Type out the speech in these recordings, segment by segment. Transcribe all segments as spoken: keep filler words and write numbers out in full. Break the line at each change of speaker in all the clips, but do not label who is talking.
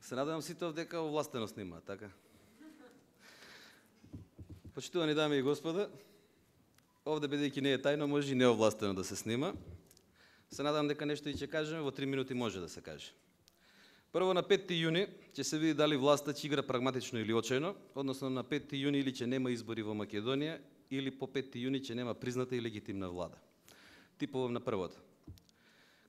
Се надевам сите овдека овластено снимаат, така? Почитувани дами и господа, овде бидејќи не е тајно, може и неовластено да се снима. Се надам дека нешто и ќе кажеме, во три минути може да се каже. Прво, на петти јуни ќе се види дали власта ќе игра прагматично или очајно, односно на петти јуни или ќе нема избори во Македонија, или по петти јуни ќе нема призната и легитимна влада. Типовам на првото.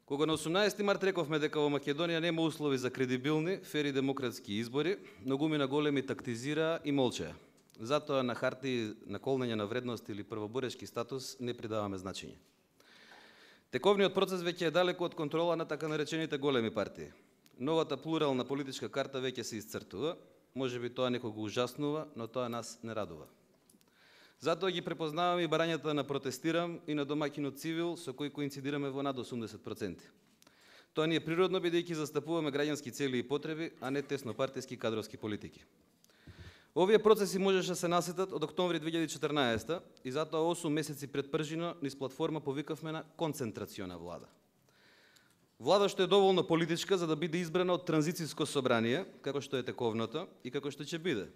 Кога на осумнаесети март рековме дека во Македонија нема услови за кредибилни, фер и демократски избори, многумина големи тактизираа и молчеа. Затоа на харти на колнење на вредност или првоборешки статус не придаваме значење. Тековниот процес веќе е далеку од контрола на така наречените големи партии. Новата плурална политичка карта веќе се исцртува, можеби тоа некого ужаснува, но тоа нас не радува. Затоа ги препознаваме и барањата на протестирам и на домаќинот Цивил, со кој коинцидираме во над осумдесет проценти. Тоа ни е природно, бидејќи застапуваме граѓански цели и потреби, а не теснопартиски кадровски политики. Овие процеси можеше да се насетат од октомври две илјади и четрнаесета и затоа осум месеци пред пржино низ платформа повикавме на концентрациона влада. Влада што е доволно политичка за да биде избрана од транзициско собрание, како што е тековното и како што ќе биде,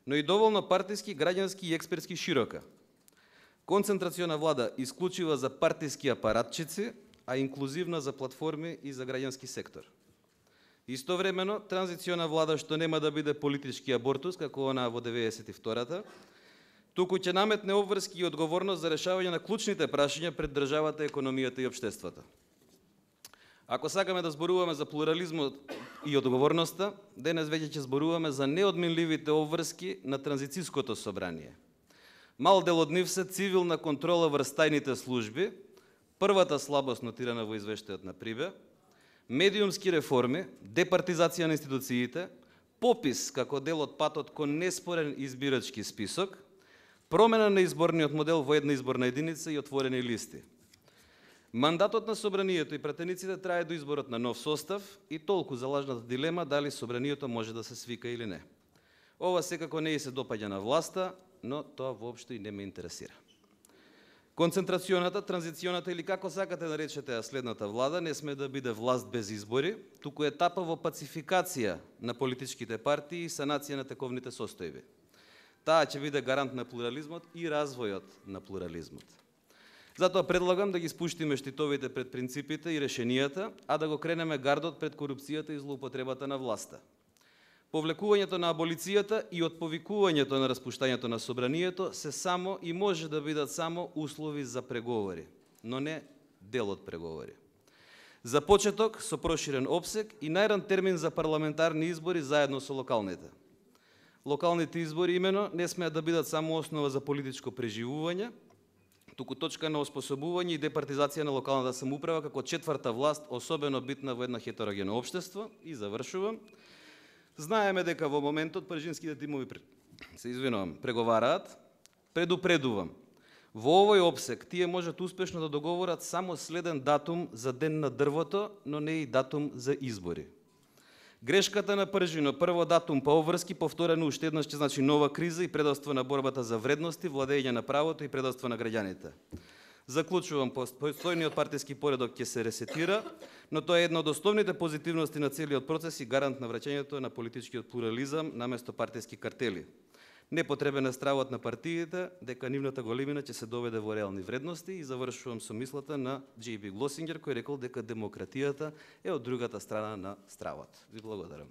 но и доволно партиски, граѓански и експертски широка. Концентрациона влада исклучива за партиски апаратчици, а инклузивна за платформи и за граѓански сектор. Истовремено, транзициона влада што нема да биде политички абортус, како она во деветдесет и втората, туку ќе наметне обврски и одговорност за решавање на клучните прашања пред државата, економијата и општеството. Ако сакаме да зборуваме за плурализмот и одговорноста, денес веќе ќе зборуваме за неодменливите обврски на транзициското собрание. Мал дел од нив се цивилна контрола врз тајните служби, првата слабост нотирана во извештајот на Прибе, медиумски реформи, департизација на институциите, попис како дел од патот кон неспорен избирачки список, промена на изборниот модел во една изборна единица и отворени листи. Мандатот на собранието и пратениците трае до изборот на нов состав и толку за лажната дилема дали собранието може да се свика или не. Ова секако не и се допаѓа на власта, но тоа воопшто и не ме интересира. Концентрацијоната, транзиционата или како сакате да речете следната влада не сме да биде власт без избори, туку етапа во пацификација на политичките партии и санација на тековните состојби. Таа ќе биде гарант на плурализмот и развојот на плурализмот. Затоа предлагам да ги спуштиме штитовите пред принципите и решенијата, а да го кренеме гардот пред корупцијата и злоупотребата на власта. Повлекувањето на аболицијата и отповикувањето на распуштањето на собранието се само и може да бидат само услови за преговори, но не дел од преговори. За почеток со проширен опсег и најран термин за парламентарни избори заедно со локалните. Локалните избори имено не смеат да бидат само основа за политичко преживување, туку точка на оспособување и департизација на локалната самоуправа како четврта власт, особено битна во една хетерогено општество. И завршувам. Знаеме дека во моментот пржинските тимови се извинувам, преговараат. Предупредувам. Во овој опсег тие можат успешно да договорат само следен датум за ден на дрвото, но не и датум за избори. Грешката на пржино, прво датум па обврски, повторено уште еднаш ќе значи нова криза и предавство на борбата за вредности, владење на правото и предавство на граѓаните. Заклучувам, постојниот партиски поредок ќе се ресетира, но тоа е една од основните позитивности на целиот процес и гарант на враќањето на политичкиот плурализам наместо партиски картели. Непотребен е стравот на партиите дека нивната големина ќе се доведе во реални вредности и завршувам со мислата на Џеј Би Глосингер кој рекол дека демократијата е од другата страна на стравот. Ви благодарам.